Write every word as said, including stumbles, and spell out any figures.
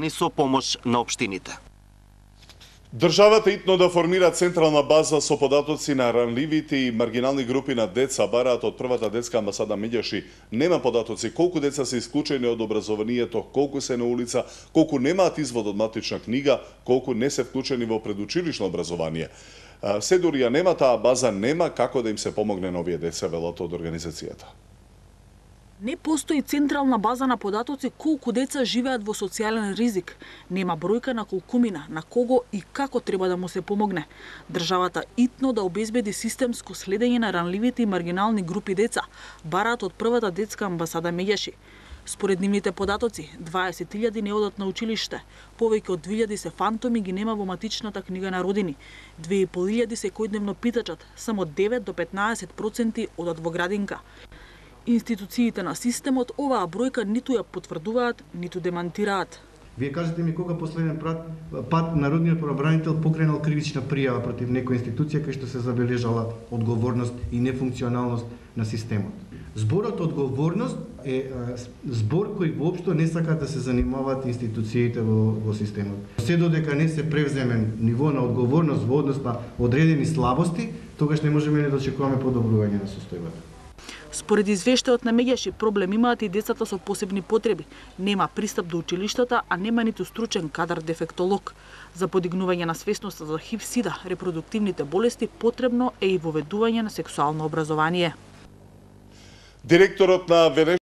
со помош на општините. Државата итно да формира централна база со податоци на ранливите и маргинални групи на деца, бараат од првата детска амбасада Меѓаши. Нема податоци колку деца се исклучени од образованието, колку се на улица, колку немаат извод од матична книга, колку не се вклучени во предучилишно образование. Се дури ја нема таа база, нема како да им се помогне на овие деца, велат од организацијата. Не постои централна база на податоци колку деца живеат во социјален ризик. Нема бројка на колкумина, на кого и како треба да му се помогне. Државата итно да обезбеди системско следење на ранливите и маргинални групи деца, бараат од првата детска амбасада Меѓаши. Според нивните податоци, дваесет илјади не одат на училиште, повеќе од две илјади се фантоми ги нема во матичната книга на родини, две и пол илјади секојдневно питачат, само девет до петнаесет проценти одат во градинка. Институциите на системот оваа бројка ниту ја потврдуваат, ниту демантираат. Вие кажете ми кога последен пат народниот правобранител покренал кривична пријава против некоја институција кај што се забележала одговорност и нефункционалност на системот. Зборот одговорност е збор кој воопшто не сака да се занимаваат институциите во, во системот. Се додека не се превземе ниво на одговорност во однос на одредени слабости, тогаш не можеме не да очекуваме подобрување на состојбата. Според извештајот на Меѓаши, проблем имаат и децата со посебни потреби. Нема пристап до училиштата, а нема ниту стручен кадар дефектолог. За подигнување на свесноста за ХИВ, СИДА, репродуктивните болести, потребно е и воведување на сексуално образование. Директорот на